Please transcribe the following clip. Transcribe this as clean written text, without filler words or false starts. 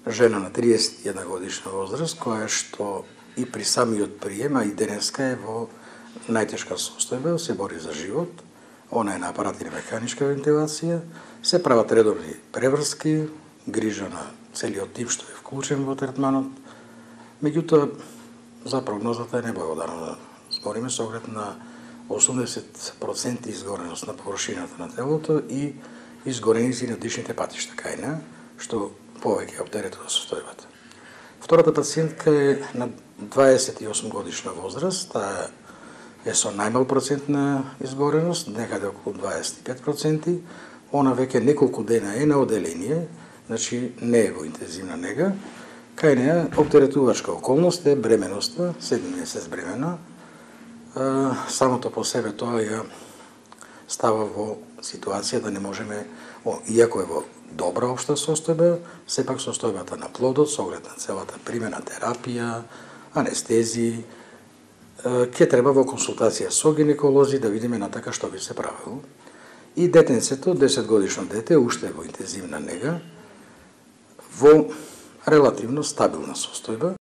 жена на 31 годишна возраст, која што и при самиот прием, а и денеска е во најтешка состојба, се бори за живот. Она е на апарат или механичка вентилација, се прават редовни преврски, грижа на целиот тим што е вклучен во третманот. Меѓутоа, за прогнозата е неблагодарно да збориме со оглед на 80% изгореност на површината на телото и изгореници на дишните патишта кај неа, што повеќе оптеретува состојбата. Втората пациентка е на 28 годишна возраст, таа е со најмал процент на изгореност, некаде околу 25%. Она веќе неколку дена е на оделение, значи не е во интензивна нега. Кај неа оптеретувачка околност е бременоста, 7 месец бремена. Самото по себе тоа ја става во ситуација да не можеме, иако е во добра општа состојба, сепак состојбата на плодот, со оглед на целата примена терапија, анестезии, ќе треба во консултација со гинеколози да видиме натака што би се правило. И детенцето, 10 годишно дете, уште во интензивна нега, во релативно стабилна состојба,